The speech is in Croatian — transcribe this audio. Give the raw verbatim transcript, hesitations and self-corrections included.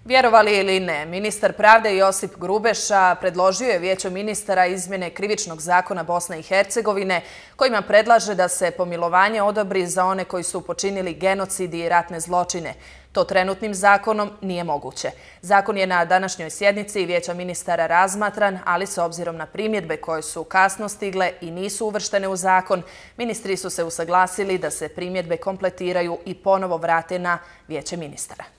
Vjerovali ili ne, ministar pravde Josip Grubeša predložio je Vijeću ministara izmjene Krivičnog zakona Bosne i Hercegovine kojima predlaže da se pomilovanje odobri za one koji su počinili genocid i ratne zločine. To trenutnim zakonom nije moguće. Zakon je na današnjoj sjednici Vijeća ministara razmatran, ali s obzirom na primjedbe koje su kasno stigle i nisu uvrštene u zakon, ministri su se usaglasili da se primjedbe kompletiraju i ponovo vrate na Vijeće ministara.